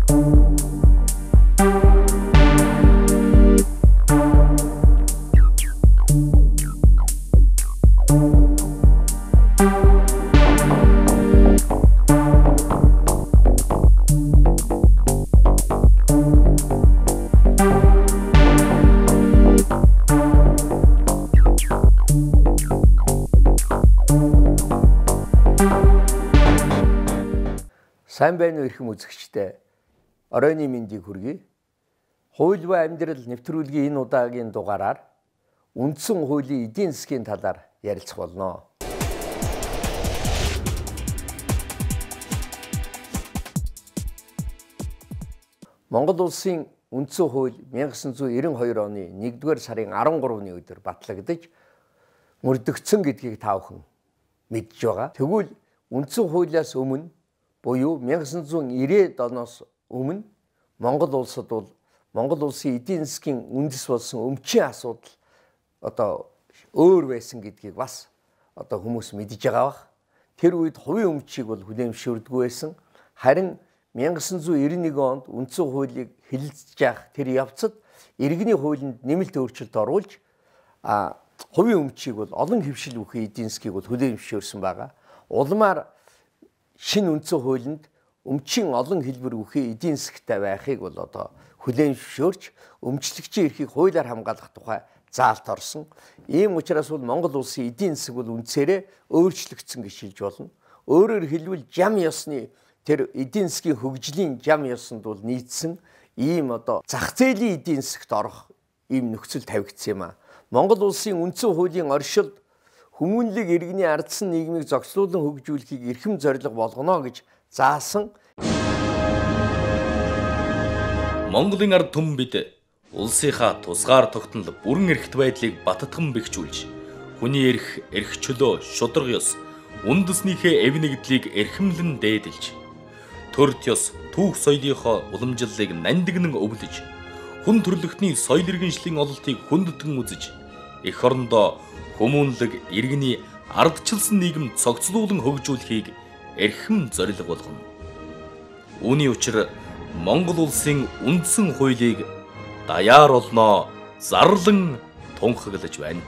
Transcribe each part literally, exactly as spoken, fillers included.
Сайн байна уу эрхэм үзэгчдээ. Оройны мэндийг хүргэе. Хууль ба амьдрал нэвтрүүлгийн энэ удаагийн дугаараар үндсэн хуулийн эдийн засгийн талаар ярилцах болно. Монгол улсын үндсэн хууль мянга санаа девяносто хоёр оны нэгдүгээр сарын арван гуравны өдөр батлагдаж мөрдөгдсөн гэдгийг та бүхэн мэдж байгаа. Тэгвэл үндсэн хуулиас өмнө буюу мянга санаа ирээдүйд оноос өмнө Монгол улсад бол Монгол улсын эдийн засгийн үндэс болсон өмчийн асуудал одоо өөр байсан гэдгийг бас одоо хүмүүс мэдж байгаа бах. Тэр үед хувийн өмчийг бол хүлээмжшүүлдэггүй байсан. Харин мянга санаа девяносто нэг онд үндсэн хуулийг хэлэлцэж явах тэр явцад иргэний хуулинд нэмэлт өөрчлөлт оруулж а хувийн өмчийг бол олон хэвшил бүхий эдийн засгийг бол хүлээмжшүүлсэн байгаа. Улмаар шинэ үндсэн хуулинд өмчийн олон хэлбэр бүхий эдийн засгтай байхыг бол одоо хүлээмжшөөрч өмчлөгчийн эрхийг хуулиар хамгаалах тухай заалт орсон. Ийм учраас бол Монгол улсын эдийн засаг бол үндсээрээ өөрчлөгдсөн гэж хэлж болно. Өөрөөр хэлбэл зам ёсны тэр эдийн засгийн хөгжлийн зам ёсонд бол нийцсэн ийм одоо зах зээлийн эдийн засагт орох ийм нөхцөл тавигдсан юм а. Монгол улсын үндсэн хуулийн оршилд хүмүүнлэг иргэний ардсан нийгмийг зохицуулан хөгжүүлэхийг эрхэм зорилго болгоно гэж заасан. Монголын ард түмэн бид улсынхаа тусгаар тогтнол бүрэн эрхт байдлыг баттган бэхжүүлж, хүний эрх, эрх чөлөө, шударга ёс, үндэснийхээ эв нэгдлийг эрхэмлэн дээдэлж, төрд ёс, түүх соёлынхоо уламжлалыг нандинан өвлөж, хүн төрлөختний соёл иргэншлийн ололтыг хүндэтгэн үзэж, эх орондоо хүмүүнлэг иргэний ардчилсан нийгэм цогцлуулан хөгжүүлэхийг эрхэм зорилго болгоно. Үүний учир Монгол улсын үндсэн хуулийг даяар олноо зарлан тунхаглаж байна.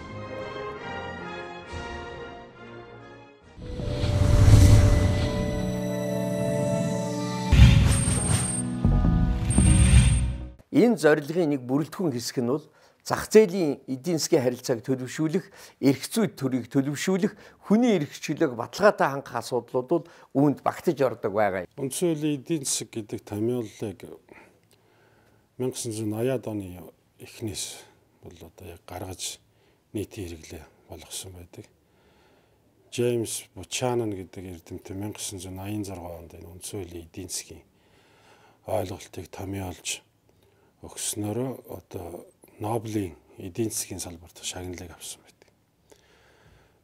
Энэ зорилгын нэг бүрэлдэхүүн хэсэг нь бол зах зээлийн эдийн засгийн харилцааг төлөвшүүлэх, эрх зүйд төрийг төлөвшүүлэх, хүний эрх чөлөөг баталгаатай хангах асуудлууд бол үүнд багтаж ордог байгаа. Үндсэн хуулийн эдийн засаг гэдэг томьёолыг мянга санаа ноёд оны эхнээс бол одоо яг гаргаж нийтийн хэрэглээ болгосон байдаг. Джеймс Бучанан гэдэг эрдэмтэн мянга санаа ноёнзар онд энэ үндсэн хуулийн эдийн засгийн ойлголтыг томьёолж өгснөөрөө одоо Нобелийн эдийн засгийн салбарт шагналыг авсан байдаг.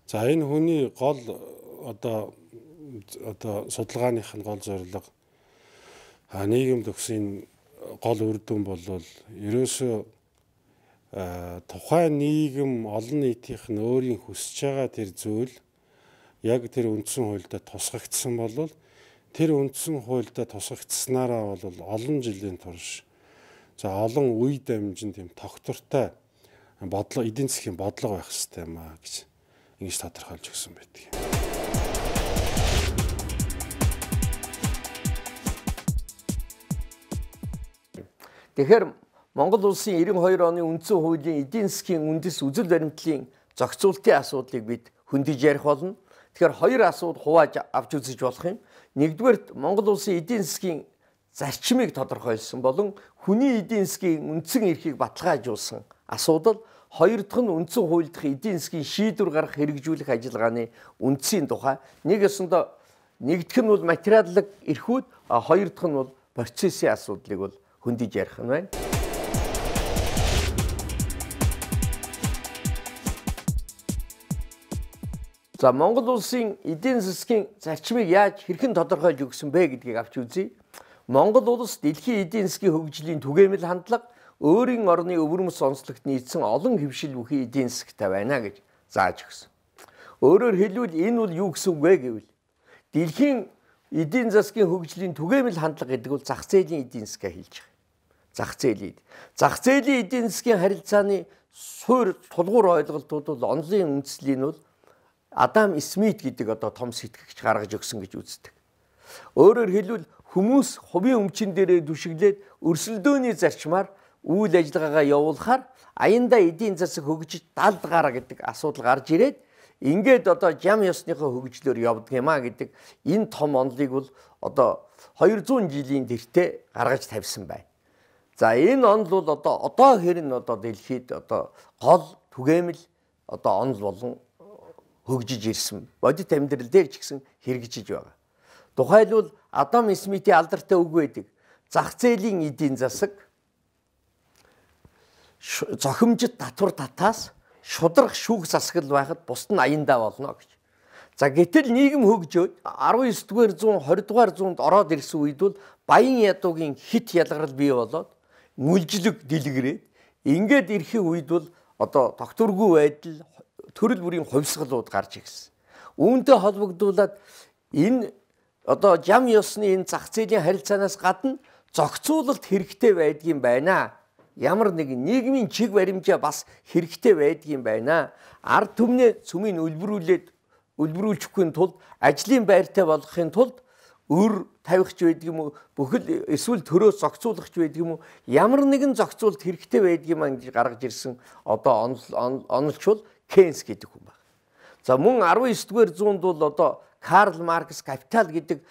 За энэ хүний гол одоо одоо судалгааных нь гол зорилго нийгэмд өгсөн гол үр дүн бол ерөөсөө тухайн нийгэм олон нийтийнх нь өөрийн хүсэж байгаа тэр зүйл яг тэр үндсэн хуульдаа тусгагдсан бол тэр үндсэн хуульдаа тусгагдсанараа бол олон жилийн турш за олон үе дамжин тийм тогтвортой бодлого эдийн засгийн бодлого байх хэрэгтэй юм а гэж ингэж тодорхойлж өгсөн байдаг. Тэгэхээр Монгол улсын девяносто хоёр оны үндсэн хуулийн эдийн засгийн үндэс үзэл баримтлалын зохицуултын асуудлыг бид хөндөж ярих болно. Тэгэхээр хоёр асуудал хувааж авч үзэж болох юм. Нэгдүгээр Монгол улсын эдийн засгийн зарчмыг тодорхойлсон болон хүний эдийн засгийн үндсэн эрхийг баталгаажуулсан асуудал. Хоёр дахь нь үндсэн хууль дахь эдийн засгийн шийдвэр гаргах хэрэгжүүлэх ажиллагааны үндсийн тухай. Нэг өсөндөө нэгдүгээр нь бол материаллык эрхүүд, а хоёр дахь нь бол процессын асуудлыг бол хөндөж ярих нь байна. За Монгол улсын эдийн засгийн зарчмыг яаж хэрхэн тодорхойлж өгсөн бэ гэдгийг авч үзье. Монгол улс дэлхийн эдийн засгийн хөгжлийн түгээмэл хандлага, өөрийн орны өвөрмөц онцлогт нийцсэн олон хэвшил бүхий эдийн засгтай байна гэж зааж өгсөн. Өөрөөр хэлбэл энэ бол юу гэсэн үг вэ гэвэл дэлхийн эдийн засгийн хөгжлийн түгээмэл хандлага гэдэг бол зах зээлийн эдийн засгаа хэлж байгаа. Зах зээлийн. Зах зээлийн эдийн засгийн харилцааны суурь тулгуур ойлголтууд бол онлын үндэслэл нь бол Адам Смит гэдэг одоо том сэтгэгч гаргаж өгсөн гэж үздэг. Өөрөөр хэлбэл хүмүүс хувийн өмчин дээрээ түшиглээд өрсөлдөөний зарчмаар үйл ажиллагаагаа явуулахаар аяндаа эдийн засаг хөгжиж далд гараа гэдэг асуудал гарч ирээд ингээд одоо жам ёсныхоо хөгжлөөр явдаг юм а гэдэг энэ том онолыг бол одоо хоёр зуун жилийн тэртээ гаргаж тавьсан байна. За энэ онол бол одоо одоо хэрн одоо дэлхийд одоо гол түгээмэл одоо онол болон хөгжиж ирсэн. Бодит амьдрал дээр ч гэсэн хэрэгжиж байгаа. Тухайлбал Адам Смитийн алдартай үг байдаг. Зах зээлийн эдийн засаг зохимжит татвар татаас шудрах шүүх засаглал байхад бусд нь аяндаа болно гэж. За гэтэл нийгэм хөгжөөд арван ёс дугаар зуун двадцать дугаар зуунд ороод ирсэн үед бол баян ядуугийн хит ялгарл бий болоод мүлжлэг дэлгэрээд ингээд ирэхин үед бол одоо тогтворгүй байдал төрөл бүрийн хувьсгалууд гарч ирсэн. Үүнтэй холбогдуулаад энэ одоо жам ёсны энэ зах зээлийн харилцаанаас гадна зохицуулалт хэрэгтэй байдгийн байна. Ямар нэгэн нийгмийн чиг баримжаа бас хэрэгтэй байдгийн байна. Ард түмнээ цөмийн үлбэрүүлээд үлбэрүүлчихгүй тулд ажлын байртай болгохын тулд өр тавихч байдаг юм уу бүхэл эсвэл төрөөс зохицуулахч байдаг юм уу ямар нэгэн зохицуулалт хэрэгтэй байдгийн маань гэж гаргаж ирсэн одоо онолчвол Кейнс гэдэг хүн байна. За мөн арван ёс дугаар зуунд бол одоо Карл Маркс Капитал гэдэг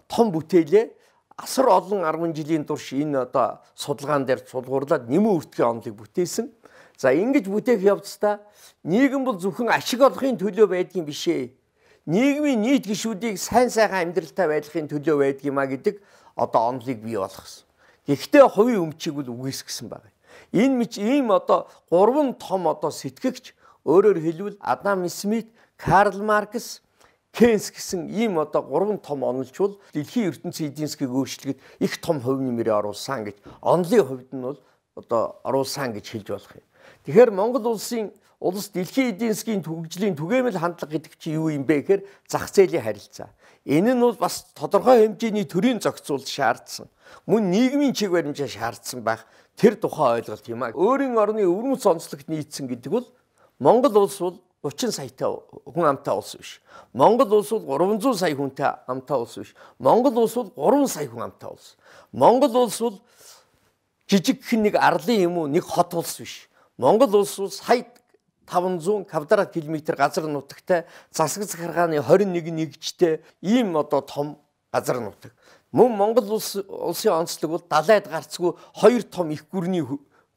том бүтээлээ асар олон арван жилийн турш энэ одоо судалгаан дээр сулгуурлаад нэмэн үртгэхийн онолыг бүтээсэн. За ингэж бүтээх явцдаа нийгэм бол зөвхөн ашиг олохын төлөө байдгийн биш ээ. Нийгмийн нийт гишүүдийг сайн сайхан амьдралтай байдлахын төлөө байдгиймаа гэдэг одоо онолыг бий болгосон. Гэхдээ хувийн өмчийг бол үгүйсгэсэн байна. Энэ мэт ийм одоо гурван том одоо сэтгэгч өөрөөр хэлбэл Адам Смит, Карл Маркс, Кейнс гэсэн ийм одоо гурван том онолчвол дэлхийн ертөнцийн эдийн засгийг өөрчлөхөд их том хувь нэмрээ оруулсан гэж онолын хувьд нь бол одоо оруулсан гэж хэлж болох юм. Тэгэхээр Монгол улсын улс дэлхийн эдийн засгийн хөгжлийн түгээмэл хандлага гэдэг чинь юу юм бэ гэхээр зах зээлийн харилцаа. Энэ нь бол бас тодорхой хэмжээний төрийн зохицуулалт шаардсан. Мөн нийгмийн чиг баримжаа шаардсан байх тэр тухай ойлголт юм а. Өөрийн орны өвөрмөц онцлогт нийцсэн гэдэг бол Монгол улс бол гучин саятай хүн амтай улс биш. Монгол улс бол гурван зуун сая хүнтэй амтай улс биш. Монгол улс бол гурван сая хүн амтай улс. Монгол улс бол жижигхэн нэг арлын юм уу нэг хот улс биш. Монгол улс бол сая таван зуун квадрат километр газар нутагтай засаг захиргааны хорин нэг нэгжтэй ийм одоо том газар нутаг. Мөн Монгол улс улсын онцлог бол далайд гарцгүй хоёр том их гүрний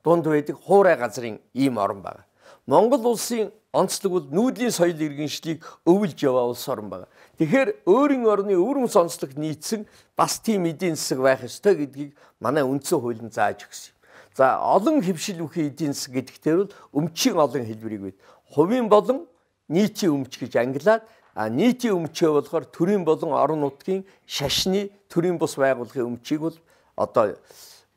дунд байдаг хуурай газрын ийм орн байна. Монгол улсын онцлог бол нүүдлийн соёл иргэншлийг өвлж яваа улс орн байна. Тэгэхээр өөрийн орны өвөрмөц онцлог нийцсэн бас тийм эдийн засаг байх ёстой гэдгийг манай үндсэн хууль нь зааж өгсөн. За олон хэвшил үхий эдийн засаг гэдэгтэр бол өмчийн олон хэлбэрийг бий. Хувийн болон нийтийн өмч гэж ангилаад а нийтийн өмчөө болохоор төрийн болон орон нутгийн шашны төрийн бус байгууллагын өмчийг бол одоо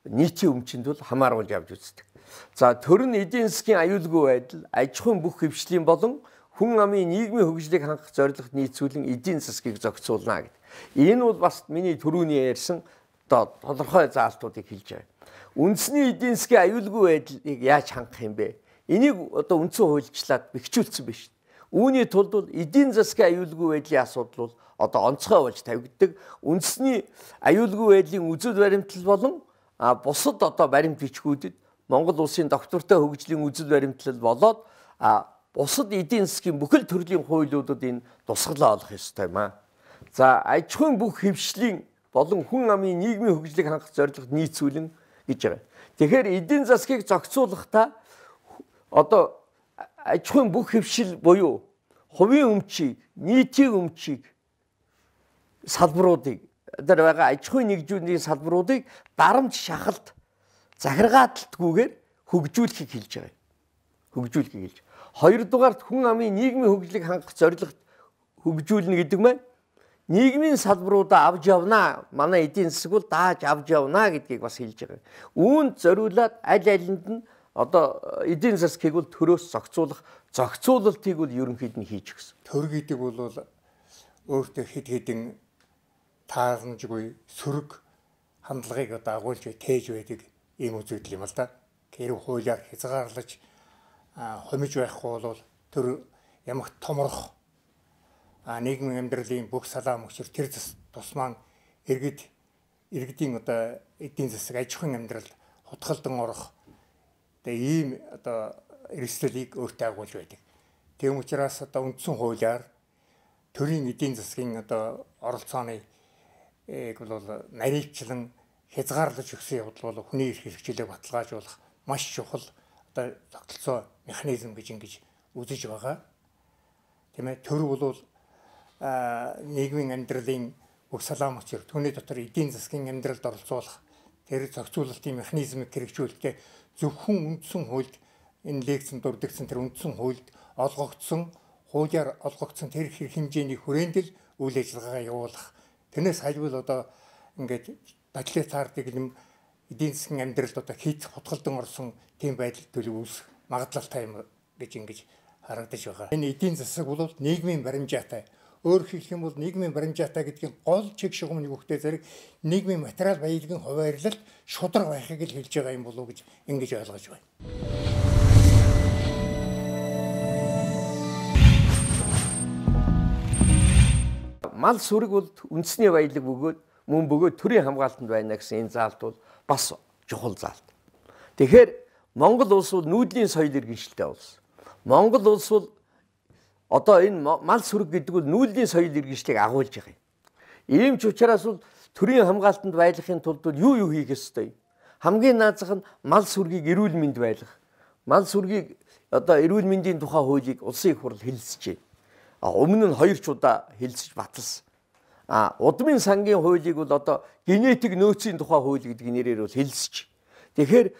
нийтийн өмчөнд бол хамааруулж авч үздэг. За төр нь эдийн засгийн аюулгүй байдал, аж ахуйн бүх хэвшлийн болон хүн амын нийгмийн хөгжлийг хангах зорилгот нийцүүлэн эдийн засгийг зохицуулна гэдэг. Энэ бол бас миний түрүүний ярьсан одоо тодорхой заалтуудыг хэлж байгаа. Үндэсний эдийн засгийн аюулгүй байдлыг яаж хангах юм бэ? Энийг одоо үндсэн хуульчлаад бэхжүүлсэн биш. Үүний тулд бол эдийн засгийн аюулгүй байдлын асуудал бол одоо онцгой болж тавигддаг. Үндэсний аюулгүй байдлын үзэл баримтлал болон бусад одоо баримт бичгүүдэд Монгол улсын доктортой хөгжлийн үзэл баримтлал болоод бусад эдийн засгийн бүхэл төрлийн хуулиудад энэ тусгалаа олох ёстой юм аа. За аж ахуйн бүх хэвшлийн болон хүн амын нийгмийн хөгжлийг хангах зорилгод нийцүүлэн гэж байгаа. Тэгэхээр эдийн засгийг зохицуулахдаа одоо аж ахуйн бүх хэвшил буюу хувийн өмчийг, нийтийн өмчийг салбаруудыг дээр байгаа аж ахуйн нэгжүүдийн салбаруудыг дарамт шахалт захиргааталтгүйгээр хөгжүүлэхийг хэлж байгаа юм. Хөгжүүлэхийг хэлж. Хоёрдугаарт хүн амын нийгмийн хөгжлийг хангах зорилгот хөгжүүлнэ гэдэг маань нийгмийн салбаруудаа авч явнаа. Манай эдийн засаг бол дааж авч явнаа гэдгийг бас хэлж байгаа. Үүнд зориулаад аль алинд нь одоо эдийн засгийг бол төрөөс зохицуулах, зохицуулалтыг бол ерөнхийд нь хийж өгсөн. Төр гэдэг бол өөртөө хэд хэдэн тааламжгүй сөрөг хандлагыг одоо агуулж тээж байдаг ийм үзэгдэл юм л да. Хэрэг хуулиар хязгаарлаж хомиж байхгүй бол тэр ямагт томрох нийгмийн амьдралын бүх салаа мөчр тэр тус маань иргэд иргэдийн одоо эдийн засаг аж ахуйн амьдралд хутгалдан орох тэгээ ийм одоо эрсдлийг өөртөө агуулж байдаг. Тийм учраас одоо үндсэн хуулиар төрийн эдийн засгийн одоо оролцооны ийг бол наривчлан хязгаарлаж өгсөн явдал бол хүний эрх хэрэгжлийг баталгаажуулах маш чухал одоо тогтолцоо механизм гэж ингэж үзэж байгаа. Тийм ээ төр бол нийгмийн амьдралын бүх салаа мөчр түүний дотор эдийн засгийн амьдралд оролцуулах тэр зохицуулалтын механизмыг хэрэгжүүлэхдээ зөвхөн үндсэн хуульд энэ лекцэнд дурддагсан тэр үндсэн хуульд олгогдсон хуулиар олгогдсон тэр хэрэг хэмжээний хүрээнд л үйл ажиллагаагаа явуулах. Тэрнээс хальбал одоо ингээд тоталитар дэглэм эдийн засгийн амьдралд одоо хийх хутгалдан орсон тийм байдал төлөв үүсэх магадлалтай юм гэж ингэж харагдаж байгаа. Энэ эдийн засаг бол нийгмийн баримжаатай. Өөрөөр хэлэх юм бол нийгмийн баримжаатай гэдгийн гол чиг шугамны хөвгтэй зэрэг нийгмийн материал баялагын хуваарлалт шудраг байхыг л хэлж байгаа юм болов уу гэж ингэж ойлгож байна. Мал сүрэг бол үндэсний баялаг бөгөөд мөн бөгөөд төрийн хамгаалтанд байна гэсэн энэ заалт бол бас чухал заалт. Тэгэхээр Монгол улс бол нүүдлийн соёл иргэншилтэй улс. Монгол улс бол одоо энэ мал сүрэг гэдэг бол нүүдлийн соёл иргэншлийг агуулж байгаа юм. Ийм ч учраас бол төрийн хамгаалтанд байхын тулд юу юу хийх ёстой юм? Хамгийн наазах нь мал сүргийг эрүүл мэнд байлгах. Мал сүргийг одоо эрүүл мэндийн тухай хуулийг улсын их хурл хэлэлцэж байна. А өмнө нь хоёр ч удаа хэлэлцэж баталсан. А удмын сангийн хуулийг бол одоо генетик нөөцийн тухай хууль гэдэг нэрээр бол хэлэлцэж. Тэгэхээр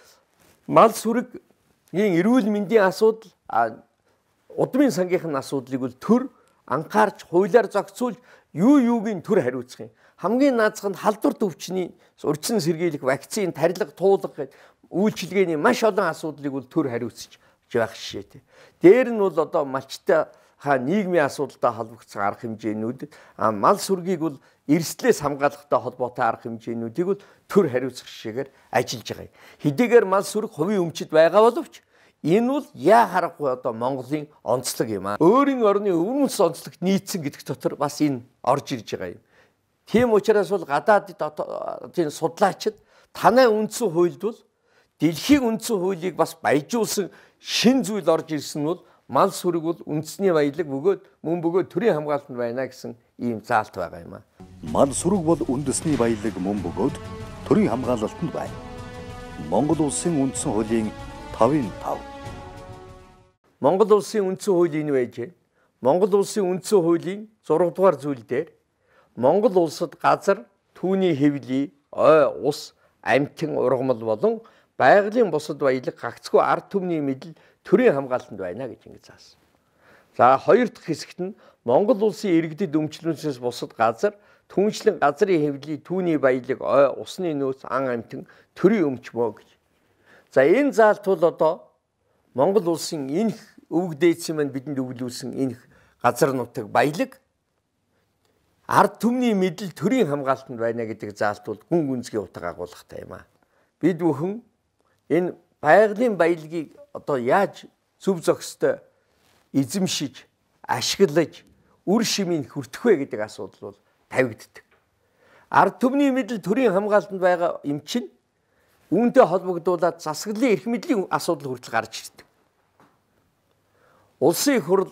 мал сүргийн эрүүл мэндийн асуудал а удмын сангийнхын асуудлыг бол төр анхаарч хуулиар зохицуулж юу юугийн төр хариуцах юм. Хамгийн наазах нь халдвар төвчний урьдчилан сэргийлэх, вакцин, тарилга, туулга гэдэг үйлчилгээний маш олон асуудлыг бол төр хариуцж байх жишээтэй. Дээр нь бол одоо малчтай ха нийгмийн асуудалтай холбогдсон арга хэмжээнүүд, а мал сүргийг бол эрсдлээс хамгаалахтай холбоотой арга хэмжээнүүдийг бол төр хариуцах жишээгээр ажиллаж байгаа юм. Хэдийгээр мал сүрэг хувийн өмчөд байгаа боловч энэ бол яа харахгүй одоо Монголын онцлог юм аа. Өөрийн орны өвөрмөс онцлогт нийцсэн гэдэг дотор бас энэ орж ирж байгаа юм. Тийм учраас бол гадаадд тийм судлаачид танай үндсэн хуульд бол дэлхийн үндсэн хуулийг бас баяжуулсан шин зүйл орж ирсэн нь бол мал сүрэг бол үндэсний баялаг бөгөөд мөн бөгөөд төрийн хамгаалтанд байна гэсэн ийм заалт байгаа юм аа. Мал сүрэг бол үндэсний баялаг мөн бөгөөд төрийн хамгаалалтанд байна. Монгол улсын үндсэн хуулийн тавын тав. Монгол улсын үндсэн хууль энэ байж байна. Монгол улсын үндсэн хуулийн зураг дугаар зүйл дээр Монгол улсад газар, түүний хэвлий, ой, ус, амьтан, ургамал болон байгалийн бусад баялаг гагцгүй ард түмний мэдэл төрийн хамгаалтанд байна гэж ингэ заасан. За хоёр дахь хэсэгт нь Монгол улсын иргэдэд өмчлөнөөс бусад газар, түүнчлэн газрын хэвлий, түүний баялаг, ой, усны нөөц, ан амьтан төрийн өмчмөө гэж. За энэ заалт бол одоо Монгол улсын энэ өвөг дээдсэн маань бидэнд өвлүүлсэн энэ газар нутаг баялаг ард түмний мэдэл төрийн хамгаалтанд байна гэдэг заалт бол гүн гүнзгий утга агуулгатай юм аа. Бид бүхэн энэ байгалийн баялагийг одоо яаж зөв зохистой эзэмшиж, ашиглаж, үр шимийг хүртэх вэ гэдэг асуудал бол тавигддаг. Ард түмний мэдэл төрийн хамгаалтанд байгаа юм чинь үүнтэй холбогдуулаад засаглалын эрх мэдлийн асуудал хүртэл гарч ирдэг. Улсын их хурл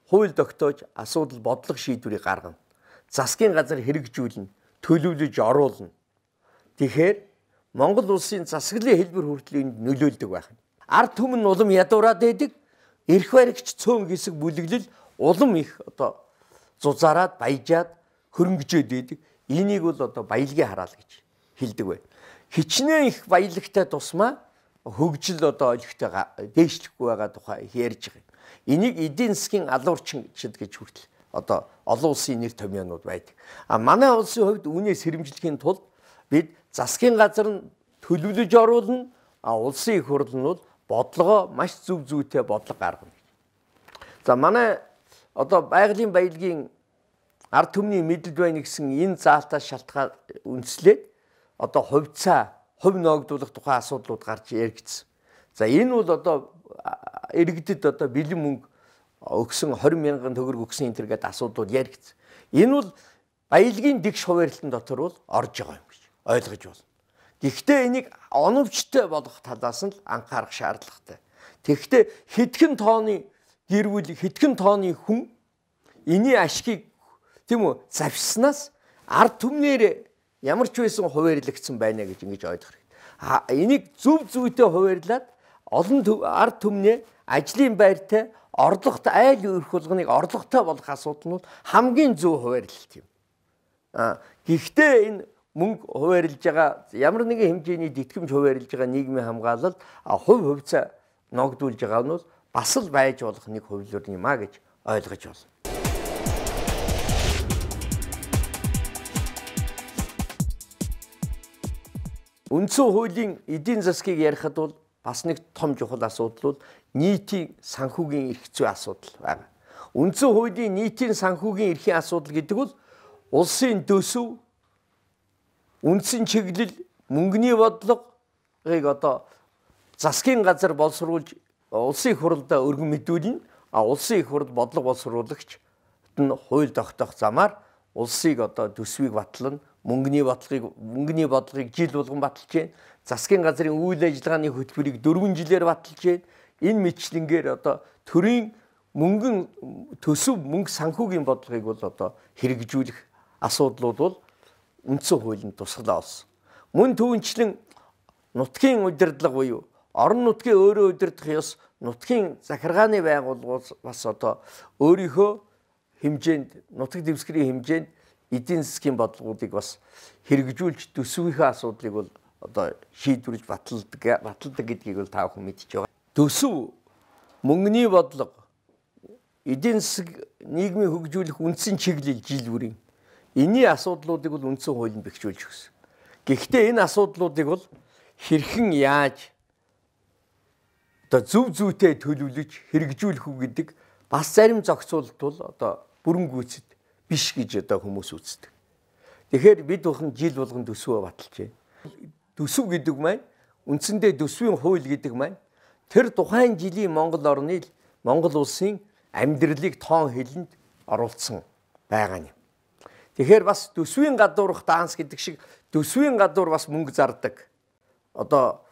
хууль тогтоож асуудал бодлого шийдвэрийг гаргана. Засгийн газар хэрэгжүүлнэ, төлөвлөж оруулна. Тэгэхээр Монгол улсын засаглалын хэлбэр хүртэл энд нөлөөлдөг байх. Ард түмэн улам ядуураад байдаг, эрх баригч цөөн хэсэг бүлэглэл улам их одоо зузаараад, баяжаад, хөрөнгөжөөд байдаг. Энийг бол одоо баялагын хараал гэж хэлдэг бай. Хичнээн их баялагтай тусмаа хөгжил одоо олигтой дээшлэхгүй байгаа тухай ярьж байгаа юм. Энийг эдийн засгийн алуурчин гэж хүртэл одоо олон улсын нэр томьёонууд байдаг. А манай улсын хувьд үүнээс сэрэмжлэхийн тулд бид засгийн газар нь төлөвлөж оруулна, а улсын их хурл нь бол бодлогоо маш зөв зүйтэй бодлого гаргана. За манай одоо байгалийн баялагын ард түмний мэдэлд байна гэсэн энэ заалтаас шалтгаан үндэслээд одоо хувьцаа, хувь ногдуулах тухай асуудлууд гарч яригдсан. За энэ бол одоо иргэдэд одоо бэлэн мөнгө өгсөн двадцать мянган төгрөг өгсөн энэ төр гэдэг асуудлууд яригдсан. Энэ бол баялагын дэгш хуваарлалтын дотор бол орж байгаа юм гэж ойлгож байна. Гэхдээ энийг оновчтой болгох талаас нь л анхаарах шаардлагатай. Тэгэхдээ хэдхэн тооны гэр бүл, хэдхэн тооны хүн энэний ашгийг тийм үү завшснаас ард түмнэр ямар ч байсан хуваарлагдсан байна гэж ингэж ойлгох хэрэгтэй. Энийг зөв зүйтэй хуваарлаад олон ард түмнээ ажлын байртай орлоготой айл өрх болгоныг орлоготой болгох асуудал нь хамгийн зөв хуваарлалт юм. А гэхдээ энэ мөнгө хуваарлж байгаа ямар нэгэн хэмжээний тэтгэмж хуваарлж байгаа нийгмийн хамгаалал хувь хувьцаа ногдуулж байгаа нь бол бас л байж болох нэг хувилбар юм а гэж ойлгож байна. Үндсэн хуулийн эдийн засгийг ярихад бол бас нэг том чухал асуудал бол нийтийн санхүүгийн эрх зүй асуудал байна. Үндсэн хуулийн нийтийн санхүүгийн эрхийн асуудал гэдэг бол улсын төсөв, үндсэн чиглэл, мөнгөний бодлогыг одоо засгийн газар боловсруулж улсын их хурлдаа өргөн мэдүүлнэ. А улсын их хурд бодлого боловсруулагч нь хууль тогтоох замаар улсыг одоо төсвийг батлана, мөнгөний бодлогыг мөнгөний бодлогыг жил болгон баталж байна. Засгийн газрын үйл ажиллагааны хөтөлбөрийг дөрвөн жилээр баталж байна. Энэ мэтлэнгээр одоо төрийн мөнгөн төсөв мөнгө санхүүгийн бодлогыг бол одоо хэрэгжүүлэх асуудлууд бол үндсэн хуулийн тусгалаа болсон. Мөн түүнчлэн нутгийн удирдлага буюу орон нутгийн өөрөө удирдах ёс, нутгийн захиргааны байгууллагууд бас одоо өөрийнхөө хэмжээнд, нутаг дэвсгэрийн хэмжээнд эдийн засгийн бодлогуудыг бас хэрэгжүүлж төсвийнхээ асуудлыг бол одоо шийдвэрлэж баталдаг, баталдаг гэдгийг бол та бүхэн мэдж байгаа. Төсөв, мөнгөний бодлого, эдийн засаг, нийгмийн хөгжүүлэх үндсэн чиглэл жил бүрийн энэний асуудлуудыг бол үндсэн хуулинд бэхжүүлж өгсөн. Гэхдээ энэ асуудлуудыг бол хэрхэн яаж одоо зөв зүйтэй төлөвлөж хэрэгжүүлэх үү гэдэг бас зарим зохицуулалт бол одоо бүрэн гүйцэд биш гэж одоо хүмүүс үздэг. Тэгэхээр бид бүхэн жил болгон төсвөө баталж байна. Төсөв гэдэг маань үндсэндээ төсвийн хууль гэдэг маань тэр тухайн жилийн Монгол орны Монгол улсын амьдралыг тоон хэлэнд оруулсан байгаа юм. Тэгэхээр бас төсвийн гадуурх данс гэдэг шиг төсвийн гадуур бас мөнгө зардаг. Одоо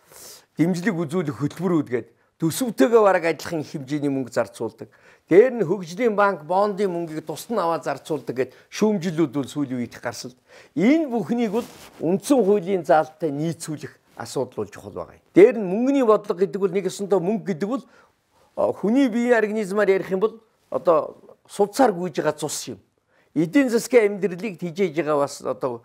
дэмжлэг үзүүлэх хөтөлбөрүүд гэдэг төсөвтэйгээ бараг адилхан хэмжээний мөнгө зарцуулдаг. Дээр нь хөгжлийн банк бондын мөнгийг тусна аваад зарцуулдаг гэд шүүмжлүүд бол сүүлийн үед гарсан. Энэ бүхнийг бол үндсэн хуулийн заалттай нийцүүлэх асуудал болж чухал байгаа. Дээр нь мөнгөний бодлого гэдэг бол нэг өсөндөө мөнгө гэдэг бол хүний биеийн организмаар ярих юм бол одоо сувцаар гүйж байгаа цус юм. Эдийн засгийн амьдралыг тижээж байгаа бас одоо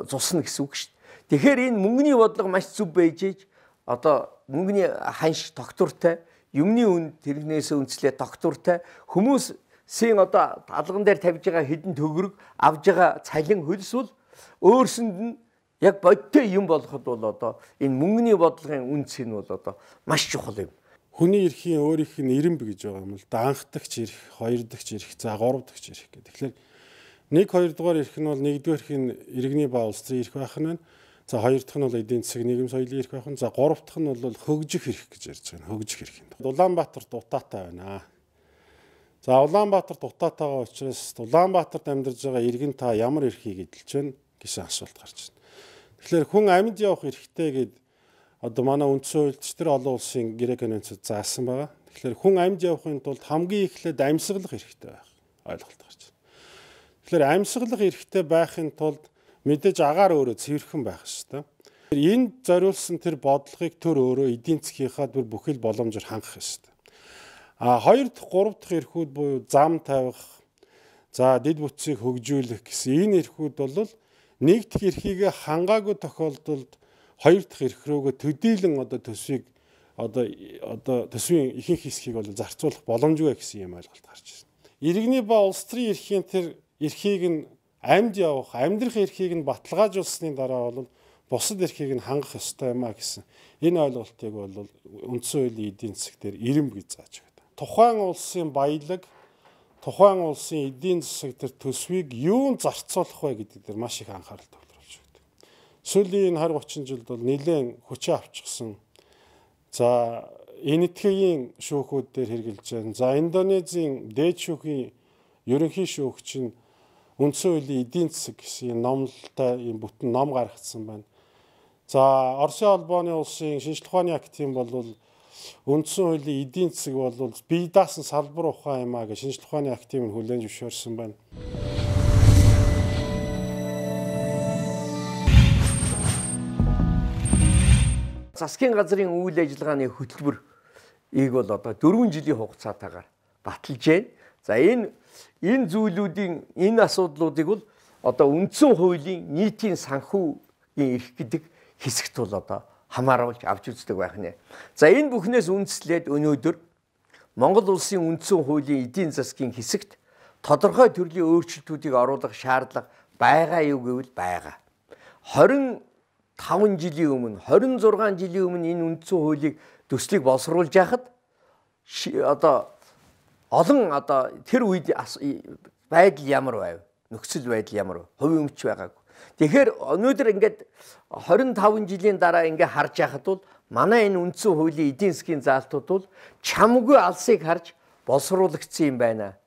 цусна гэсэн үг шүү дээ. Тэгэхээр энэ мөнгөний бодлого маш зөв байж ээж одоо мөнгөний ханш тогтвортой, юмны үн тэрнээс үнслээ тогтвортой, хүмүүсийн одоо алган дээр тавьж байгаа хэдэн төгрөг авж байгаа цалин хөлс бол өөрсөнд нь яг бодтой юм болоход бол одоо энэ мөнгөний бодлогын үнц нь бол одоо маш чухал юм. Хүний эрхийн өөрийнх нь ирэмб гэж байгаа юм л да, анх дахь эрх, хоёр дахь эрх, за гурав дахь эрх гэх. Тэгэхээр нэг хоёр дугаар эрх нь бол нэгдүгээр эрхийн иргэний ба улс төрийн эрх байх нь байна. За хоёр дахь нь бол эдийн засаг нийгэм соёлын эрх байх нь. За гурав дахь нь бол хөгжих эрх гэж ярьж байгаа. Хөгжих эрх юм. Улаанбаатарт утаатай байна. За Улаанбаатарт утаатайгаа учраас Улаанбаатарт амьдарж байгаа иргэн та ямар эрхийг эдэлж байна гэсэн асуулт гарч байна. Тэгэхээр хүн амьд явах эрхтэй гэд одоо манай үндсэн хуульд ч тэр олон улсын гэрээ конвенцид заасан байгаа. Тэгэхээр хүн амьд явахын тулд хамгийн эхлээд амьсгалах эрхтэй байх ойлголт гарч байна. Тэгэхээр амьсгалах эрхтэй байхын тулд мэдээж агаар өөрөө цэвэрхэн байх ёстой. Энд зориулсан тэр бодлогыг төр өөрөө эдийн засгийнхаа бүр бүхэл боломжоор хангах ёстой. А хоёр дахь, гурав дахь эрхүүд буюу зам тавих, за дэд бүтцийг хөгжүүлэх гэсэн энэ эрхүүд бол нэг дахь эрхийг хангаагүй тохиолдолд хоёр дахь эрх рүүгээ төдийлөн одоо төсвийг одоо одоо төсвийн ихэнх хэсгийг бол зарцуулах боломжгүй гэсэн юм ойлголт гарч ирсэн. Иргэний ба улс төрийн эрхийн тэр эрхийг нь амьд явах, амьдрах эрхийг нь баталгаажуулсны дараа бол бусад эрхийг нь хангах ёстой юм а гэсэн энэ ойлголтыг бол үндсэн хуулийн эдийн засаг дээр ирэмб гэж зааж байна. Тухайн улсын баялаг, тухайн улсын эдийн засаг төр төсвийг юунд зарцуулах вэ гэдэг дээр маш их анхаарал төвлөрүүлж байна. Сүүлийн энэ двадцать жилд бол нэлээд хүчээ авчихсан. За энэтхэгийн шүүхүүд дээр хэрглэж байна. За Индонезийн дээд шүүхийн ерөнхий шүүгч нь үндсэн хуулийн эдийн засаг гэсэн номлолтой ийм бүтэн ном гаргацсан байна. За Оросын холбооны улсын шинжлэх ухааны актын бол үндсэн хуулийн эдийн засаг бол бие даасан салбар ухаан юм а гэж шинжлэх ухааны актын хүлээн зөвшөөрсөн байна. Засгийн газрын үйл ажиллагааны хөтөлбөр ийг бол одоо дөрвөн жилийн хугацаатаагаар баталж байна. За энэ энэ зүйлүүдийн энэ асуудлуудыг бол одоо үндсэн хуулийн нийтийн санхүүгийн эрх гэдэг хэсэгт бол одоо хамааруулж авч үздэг байх нэ. За энэ бүхнээс үндэслээд өнөөдөр Монгол улсын үндсэн хуулийн эдийн засгийн хэсэгт тодорхой төрлийн өөрчлөлтүүдийг оруулах шаардлага байгаа юу гэвэл байгаа. двадцать таван жилийн өмнө, двадцать зургаан жилийн өмнө энэ үндсэн хуулийг төслийг боловсруулж яхад одоо олон одоо тэр үед байдал ямар байв? Нөхцөл байдал ямар вэ? Хувийн өмч байгаагүй. Тэгэхээр өнөөдөр ингээд двадцать таван жилийн дараа ингээд харж яхад бол манай энэ үндсэн хуулийн эдийн засгийн заалтууд бол чамгүй алсыг харж боловсруулагдсан юм байна.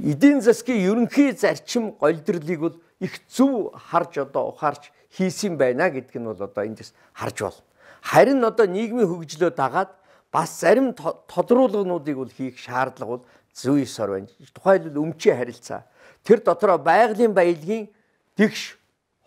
Эдийн засгийн ерөнхий зарчим голдрлыг бол их зөв харж одоо ухаарч хийсэн байна гэдг нь бол одоо эндээс харж байна. Харин одоо нийгмийн хөгжлөө дагаад бас зарим тодруулгынуудыг бол хийх шаардлага бол зүй ёсоор байна. Тухайлбал өмчийн харилцаа. Тэр дотроо байгалийн баялагын дэгш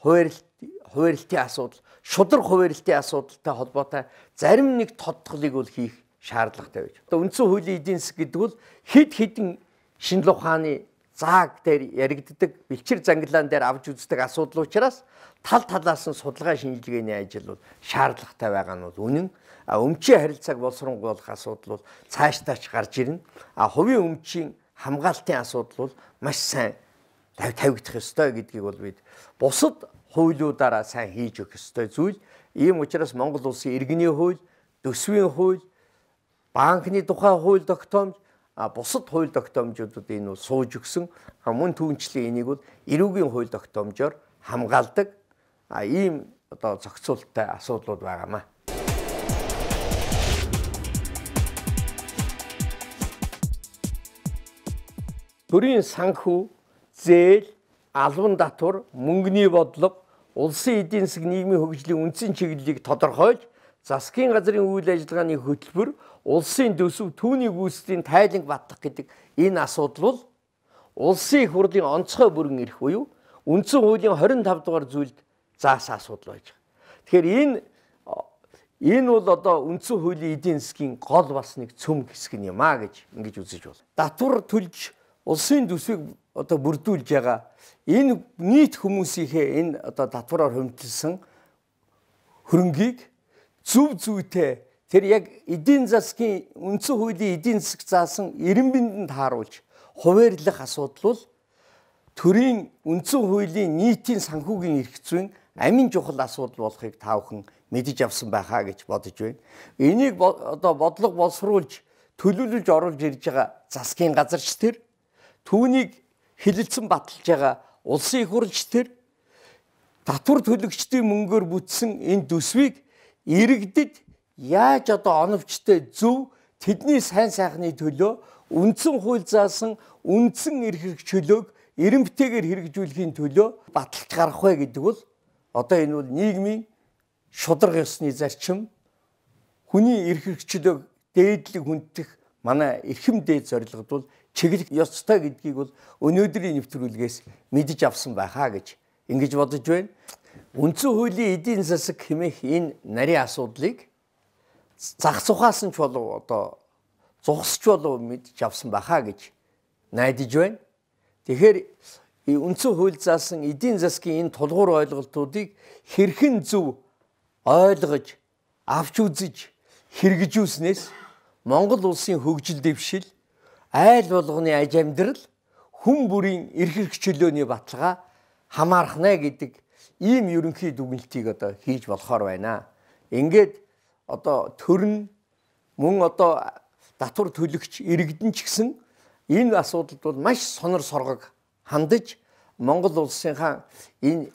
хуваарлт хуваарлтын асуудал, шудраг хуваарлтын асуудалтай холбоотой зарим нэг тодтголыг бол хийх шаардлагатай байж. Одоо үндсэн хуулийн эдийн засаг гэдэг бол хэд хэдэн шинжлэх ухааны зааг дээр яригддаг, бэлчир зангилаан дээр авч үздэг асуудал учраас тал талаас нь судалгаа шинжилгээний ажил бол шаардлагатай байгаа нь бол үнэн. А өмчийн харилцааг боловсруулах асуудал бол цаашдаач гарч ирнэ. А хувийн өмчийн хамгаалтын асуудал бол маш сайн тавигдах ёстой гэдгийг бол бид бусад хуулиудаараа сайн хийж өгөх ёстой зүйл. Ийм учраас Монгол улсын иргэний хууль, төсвийн хууль, банкны тухай хууль тогтоомж, а бусад хууль тогтоомжуудад энэ бол сууж өгсөн. Мөн түүнчлэн энийг бол эрүүгийн хууль тогтоомжоор хамгаалдаг. А ийм одоо зохицуулттай асуудлууд байгаамаа. Төрийн санхүү, зээл, албан татвар, мөнгөний бодлого, улсын эдийн засаг нийгмийн хөгжлийн үндсэн чиглэлийг тодорхойлж, засгийн газрын үйл ажиллагааны хөтөлбөр, улсын төсөв, түүний гүйцэтгэлийн тайланг батлах гэдэг энэ асуудал бол улсын их хурлын онцгой бүрэн эрх буюу үндсэн хуулийн двадцать таван дугаар зүйлд заасан асуудал байж байгаа. Тэгэхээр энэ энэ бол одоо үндсэн хуулийн эдийн засгийн гол бас нэг цөм хэсэг юм а гэж ингэж үзэж байна. Татвар төлж улсын төсвийг одоо бүрдүүлж байгаа энэ нийт хүмүүсийнхээ энэ одоо татвараар хөндлөсөн хөрөнгийг зөв зүйтэй тэр яг эдийн засгийн үндсэн хуулийн эдийн засаг заасан эрен биндэнд тааруулж хуваарлах асуудал бол төрийн үндсэн хуулийн нийтийн санхүүгийн эрх зүйн амин чухал асуудал болохыг та бүхэн мэдэж авсан байхаа гэж бодож байна. Энийг одоо бодлого боловсруулж төлөвлөж оруулж ирж байгаа засгийн газарч тэр, түүнийг хилэлцэн баталж байгаа улсын их хурлч тэр, татвар төлөгчдийн мөнгөөр бүтсэн энэ төсвийг иргэдэд яаж одоо оновчтой зөв тэдний сайн сайхны төлөө үндсэн хууль заасан үндсэн эрх хэрэгчлөөг эренбтэйгээр хэрэгжүүлэхийн төлөө баталж гарах вэ гэдэг бол одоо энэ бол нийгмийн шударга ёсны зарчим, хүний эрх хэрэгчлөөг дээдлэг хүндэх манай эрхэм дээд зорилгод бол чиглэх ёстой гэдгийг бол өнөөдрийн нэвтрүүлгээс мэдэж авсан байхаа гэж ингэж бодож байна. Үндсэн хуулийн эдийн засаг хэмээх энэ нарийн асуудлыг зах зухаас нь ч болов одоо зогсч болов мэдж авсан байхаа гэж найдаж байна. Тэгэхээр үндсэн хууль заасан эдийн засгийн энэ тулгуур ойлголтуудыг хэрхэн зөв ойлгож, авч үзэж, хэрэгжүүлснээс Монгол улсын хөгжил дэвшил, айл болгоны аж амьдрал, хүн бүрийн эрх хэрэгчлөөний баталгаа хамаарах нэ гэдэг ийм ерөнхий дүгнэлтийг одоо хийж болохоор байна. Ингээд одоо төрн мөн одоо татвар төлөгч иргэдэн ч гэсэн энэ асуудалд бол маш сонор соргог хандаж Монгол улсынхаа энэ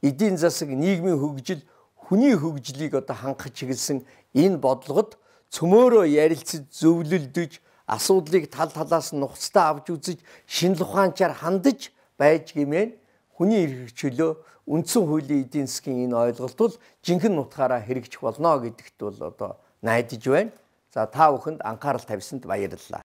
эдийн засаг, нийгмийн хөгжил, хүний хөгжлийг одоо хангах чиглэсэн энэ бодлогод цөмөөрөө ярилцаж зөвлөлдөж, асуудлыг тал талаас нь нухацтай авч үзэж, шинжлэх ухаанчаар хандаж байж гэмээр хүний эрх чөлөө үндсэн хуулийн эдийн засгийн энэ ойлголт бол жинхэнэ утгаараа хэрэгжих болно гэдэгт бол одоо найдаж байна. За та бүхэнд анхаарал тавьсанд баярлалаа.